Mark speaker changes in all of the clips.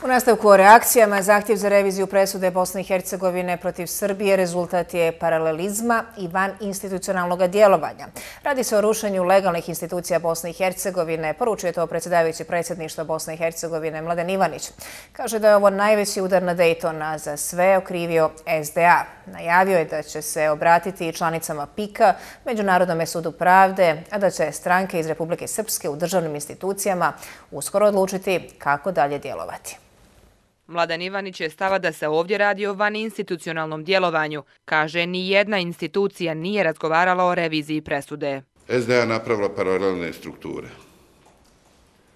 Speaker 1: U nastavku o reakcijama, zahtjev za reviziju presude Bosne i Hercegovine protiv Srbije rezultat je paralelizma i van institucionalnog djelovanja. Radi se o rušenju legalnih institucija Bosne i Hercegovine, poručuje to predsjedavajući predsjedništva Bosne i Hercegovine Mladen Ivanić. Kaže da je ovo najveći udar na Daytona za sve okrivio SDA. Najavio je da će se obratiti članicama PIK-a, Međunarodnom sudu pravde, a da će stranke iz Republike Srpske u državnim institucijama uskoro odlučiti kako dalje djelovati.
Speaker 2: Mladen Ivanić je stava da se ovdje radi o vaninstitucionalnom djelovanju. Kaže, ni jedna institucija nije razgovarala o reviziji presude.
Speaker 3: SDA napravila paralelne strukture.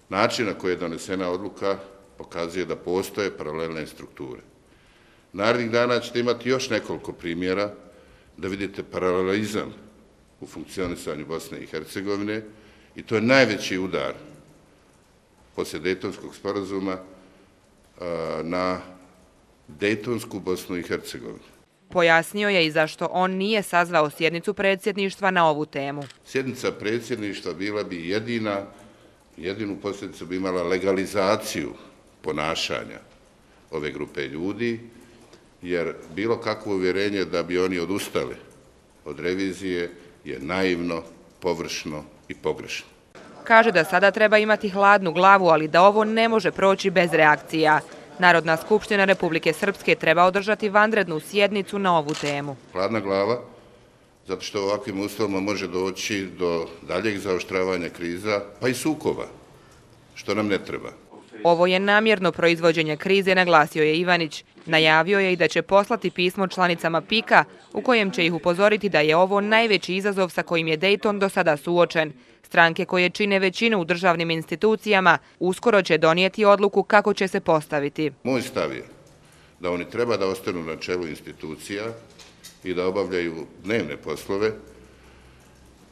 Speaker 3: Način na koji je donesena odluka pokazuje da postoje paralelne strukture. Narednih dana ćete imati još nekoliko primjera da vidite paralelizam u funkcionisanju Bosne i Hercegovine i to je najveći udar poslije Dejtonskog sporazuma na Dejtonsku Bosnu i Hercegovinu.
Speaker 2: Pojasnio je i zašto on nije sazvao sjednicu predsjedništva na ovu temu.
Speaker 3: Sjednica predsjedništva bila bi jedinu posljedicu bi imala legalizaciju ponašanja ove grupe ljudi, jer bilo kakvo uvjerenje da bi oni odustali od revizije je naivno, površno i pogrešno.
Speaker 2: Kaže da sada treba imati hladnu glavu, ali da ovo ne može proći bez reakcija. Narodna skupština Republike Srpske treba održati vanrednu sjednicu na ovu temu.
Speaker 3: Hladna glava, zato što u ovakvim uslovima može doći do daljeg zaoštravanja kriza, pa i sukoba, što nam ne treba.
Speaker 2: Ovo je namjerno proizvođenje krize, naglasio je Ivanić. Najavio je i da će poslati pismo članicama PIK-a u kojem će ih upozoriti da je ovo najveći izazov sa kojim je Dayton do sada suočen. Stranke koje čine većinu u državnim institucijama uskoro će donijeti odluku kako će se postaviti.
Speaker 3: Moj stav je da oni treba da ostanu na čelu institucija i da obavljaju dnevne poslove,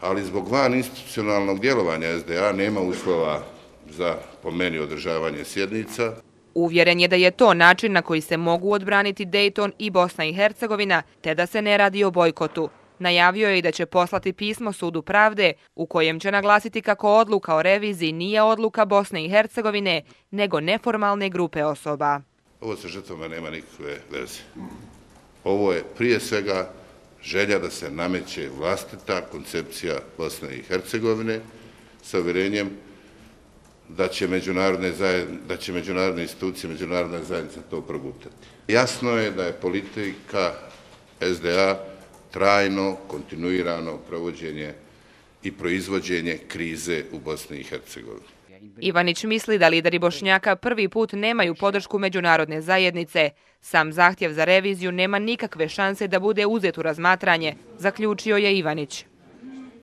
Speaker 3: ali zbog van institucionalnog djelovanja SDA nema uslova za, po meni, održavanje sjednica.
Speaker 2: Uvjeren je da je to način na koji se mogu odbraniti Dayton i Bosna i Hercegovina, te da se ne radi o bojkotu. Najavio je i da će poslati pismo Sudu pravde u kojem će naglasiti kako odluka o reviziji nije odluka Bosne i Hercegovine, nego neformalne grupe osoba.
Speaker 3: Ovo sa žrtvama nema nikakve veze. Ovo je prije svega želja da se nameće vlastita koncepcija Bosne i Hercegovine sa uvjerenjem da će međunarodne institucije, međunarodna zajednica to progutati. Jasno je da je politika SDA trajno, kontinuirano provođenje i proizvođenje krize u Bosni i Hercegovini.
Speaker 2: Ivanić misli da lideri Bošnjaka prvi put nemaju podršku međunarodne zajednice. Sam zahtjev za reviziju nema nikakve šanse da bude uzet u razmatranje, zaključio je Ivanić.